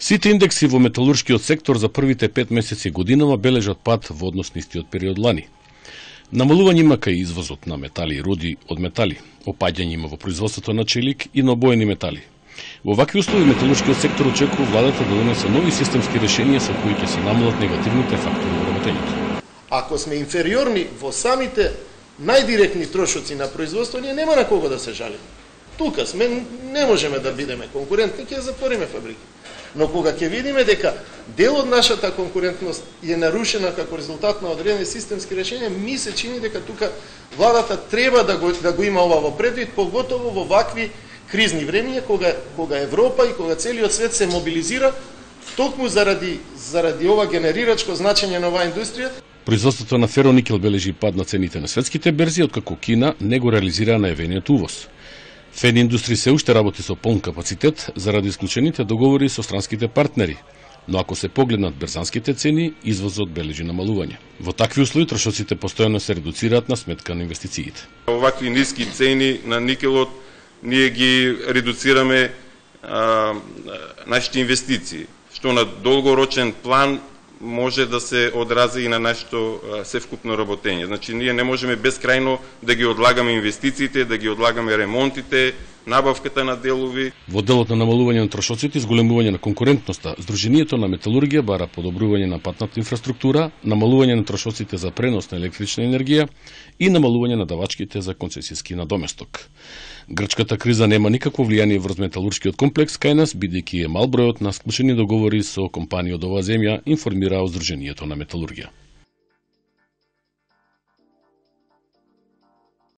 Сите индекси во металуршкиот сектор за првите 5 месеци годинава бележат пад во однос на истиот период лани. Намалување има кај извозот на метали и роди од метали, опаѓање има во производството на челик и на обоени метали. Во вакви услови металуршкиот сектор очекува владата да донесе нови системски решенија со кои ќе се намалат негативните фактори во работењето. Ако сме инфериорни во самите најдиректни трошоци на производство, ние нема на кого да се жалиме. Тука сме, не можеме да бидеме конкурентни, ќе затвориме фабрики. Но кога ќе видиме дека дел од нашата конкурентност е нарушена како резултат на одредени системски решенија, ми се чини дека тука владата треба да го има ова во предвид, поготово во вакви кризни времиња, кога Европа и кога целиот свет се мобилизира токму заради ова генерирачко значење на оваа индустрија. Производството на фероникел бележи пад на цените на светските берзи, откако Кина не го реализира најавениот увоз. Фен индустрија се уште работи со полн капацитет заради исклучените договори со странските партнери, но ако се погледнат берзанските цени, извозот бележи намалување. Во такви услови трошоците постојано се редуцираат на сметка на инвестициите. Овакви ниски цени на никелот ние ги редуцираме нашите инвестиции, што на долгорочен план може да се одрази и на нашето севкупно работење. Значи, ние не можеме безкрајно да ги одлагаме инвестициите, да ги одлагаме ремонтите, набавката на делови. Во делот на намалување на трошоците и зголемување на конкурентноста, Сдруженијето на металургија бара подобрување на патната инфраструктура, намалување на трошоците за пренос на електрична енергија и намалување на давачките за концесијски надоместок. Грчката криза нема никакво влијание врз металуршкиот комплекс кај нас, бидејќи е мал бројот на склучени договори со компании од оваа земја, информира Сдруженијето на металургија.